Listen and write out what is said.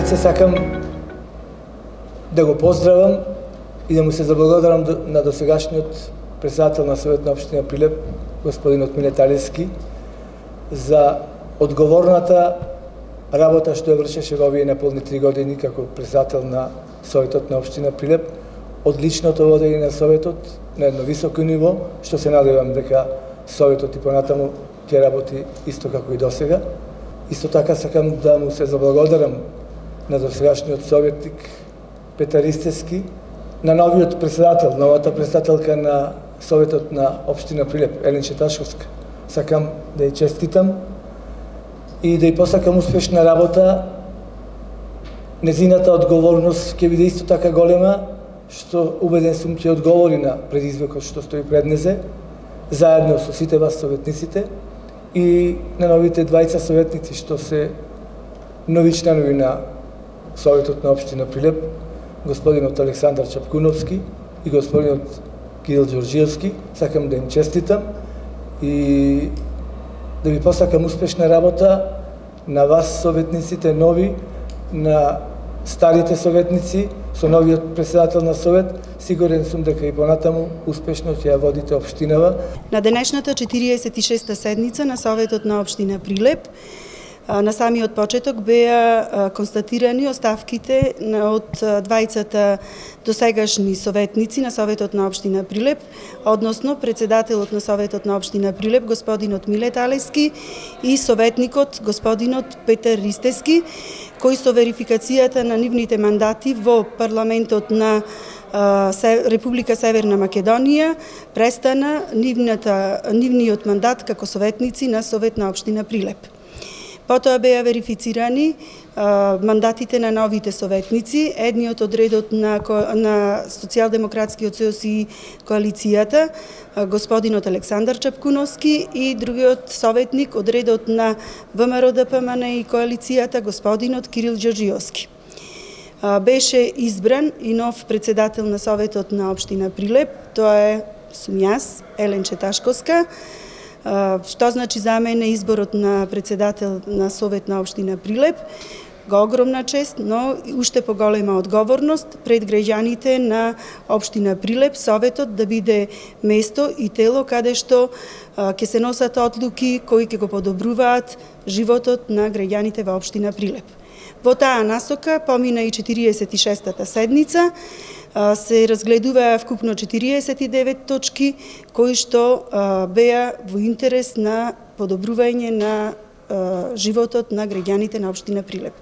Пред се сакам да го поздравам и да му се заблагодарам на досегашниот председател на Совет на општина Прилеп, господинот Миле Талевски, за одговорната работа што ја вршеше во овие неполни 3 години како председател на Советот на општина Прилеп, одличното водење на Советот на едно високо ниво, што се надевам дека Советот и понатаму ќе работи исто како и досега. Исто така сакам да му се заблагодарам на досегашниот советник Петар Ристевски, на новиот председател, новата председателка на Советот на општина Прилеп, Елен Четашковска. Сакам да ја честитам и да ја посакам успешна работа. Незината одговорност ќе биде исто така голема, што убеден сум ќе одговори на предизвикот што стои пред незе, заедно со сите вас советниците и на новите двајца советници што се нови членови на Советот на општина Прилеп, господинот Александар Чапкуновски и господинот Кирил Ѓорѓиевски. Сакам да им честитам и да ви посакам успешна работа на вас советниците нови, на старите советници, со новиот председател на Совет. Сигурен сум дека и понатаму успешно ќе ја водите општинава. На денешната 46-та седница на Советот на општина Прилеп, на самиот почеток беа констатирани оставките од двајцата досегашни советници на Советот на општина Прилеп, односно председателот на Советот на општина Прилеп, господинот Миле Талевски, и советникот, господинот Петар Ристевски, кои со верификацијата на нивните мандати во парламентот на Република Северна Македонија престана нивниот мандат како советници на Совет на општина Прилеп. Потоа беа верифицирани мандатите на новите советници, едниот од редот на Социјалдемократскиот сојуз и коалицијата, господинот Александар Чапкуновски, и другиот советник од редот на ВМРО ДПМН и коалицијата, господинот Кирил Ѓорѓиевски. Беше избран и нов председател на Советот на општина Прилеп, тоа сум јас, Елен Четашковска. Што значи за мене изборот на председател на Совет на општина Прилеп? Го огромна чест, но уште поголема одговорност пред граѓаните на општина Прилеп, Советот да биде место и тело каде што ќе се носат одлуки кои ќе го подобруваат животот на граѓаните во општина Прилеп. Во таа насока помина и 46-та седница, се разгледуваа вкупно 49 точки кои што беа во интерес на подобрување на животот на граѓаните на општина Прилеп.